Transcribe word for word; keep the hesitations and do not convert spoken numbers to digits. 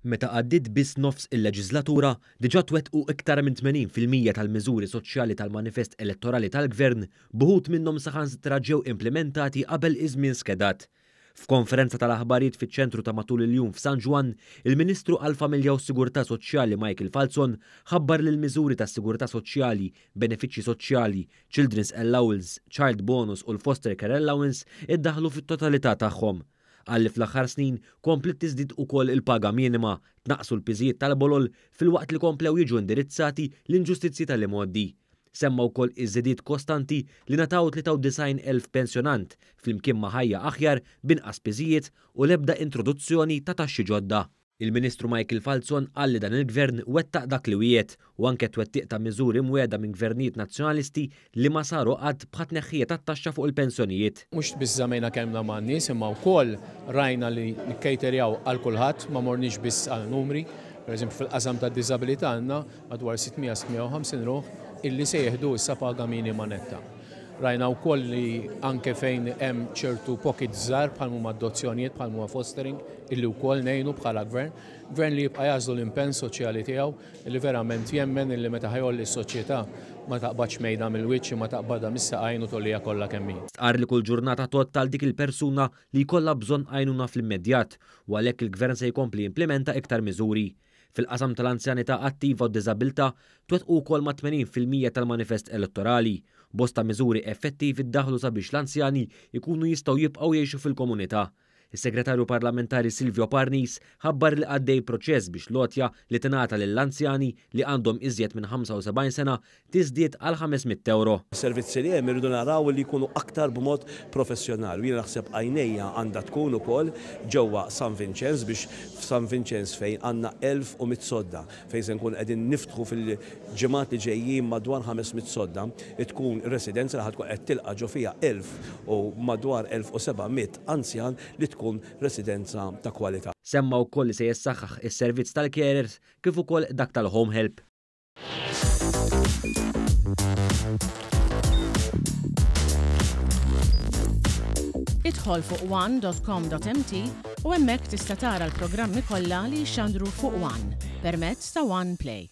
Meta għaddiet biss nofs il-leġislatura, diġà twettqu iktar minn tmenin fil-mija tal-miżuri soċjali tal-manifest elettorali tal-Gvern, b'uħud minnhom saħansitra ġew implimentati qabel iż-żmien skedat. F'konferenza tal-aħbarijiet fiċ-ċentru ta' matul il-jum f'San Ġwann, il-Ministru għall-Familja u s-Sigurtà Soċjali Michael Falzon ħabbar li l-miżuri tas-sigurtà soċjali, benefiċċji soċjali, Children's Allowance, Child Bonus u l-Foster Care Allowance iddaħħlu fit-totalità tagħhom. Qal li fl-aħħar snin kompliet tiżdied ukoll il-paga minima, tnaqqsu l-piżijiet tal-bolol filwaqt li komplew jiġu indirizzati l-inġustizzji tal-imgħoddi. Semma wkoll iż-żidiet kostanti li ngħataw tlieta u disgħin elf pensjonant flimkien ma' ħajja aħjar b'inqas piżijiet u l-ebda introduzzjoni ta' taxxi ġodda. Il-Ministru Michael Falzon qal li dan il-Gvern wettaq dak li wiegħed u anke twettiq ta' miżuri mwiegħda minn gvernijiet nazzjonalisti li ma saru qatt bħat tneħħija tat-taxxa fuq il-pensjonijiet. Mhux biss żamejna kelmna man-nies imma wkoll rajna li nikkejterjaw għal kulħadd, ma morniex biss għal numri. Per eżempju fil-qasam tad-diżabilità għandna madwar sitt mija sitt mija u ħamsin ruħ illi se jieħdu issa paga minima netta. Rajna wkoll li anke fejn hemm ċertu pockets żgħar bħal huma adozzjonijiet, bħal huma fostering, illi wkoll ngħinu bħala gvern. Gvern li jibqa' jagħżlu l-impenn soċjali tiegħu, illi verament jemmen illi meta ħajolli s-soċjetà ma taqbadx mejda mill-wiċċ, ma taqbadha mis-saqajn u tollija kollha kemm hi. Stqarr li kull ġurnata tgħodd għal dik il-persuna li jkollha bżonn għajnuna fl-immedjat u għalhekk il-gvern se jkompli jimplementa iktar miżuri. Fil-qasam tal-anzjanità attiva u diżabilità twettqu wkoll ma' tmenin fil-mija tal-manifest elettorali. Bosta miżuri effettivi ddaħlu sabiex l-anzjani jkunu jistgħu jibqgħu jgħixu fil-komunità. Is-Segretarju Parlamentari Silvio Parnis ħabbar li għaddej proċess biex l-għotja li tingħata lill-anzjani li għandhom iżjed minn ħamsa u sebgħin sena tiżdied għal ħames mitt euro. Servizzi li hemm irridu naraw li jkunu aktar b'mod professjonali. Jiena naħseb għajnejja għandha tkun ukoll ġewwa San Vinċenz biex f'San Vinċenz fejn għandna elf u mitt sodda fejn se nkun qegħdin niftħu fil-ġimgħat li ġejjin madwar ħames mitt sodda, tkun residenza li ħad tkun qed tilqa' ġo fiha elf u madwar elf u seba' mitt anzjan li tkun residenza ta' kwalità. Semma wkoll li se jissaħħaħ is-servizz tal-carers kif ukoll dak tal-home help. Idħol fuq one dot com dot m t u hemmhekk tista' tara l-programmi kollha li jxandru fuq One permezz ta' One Play.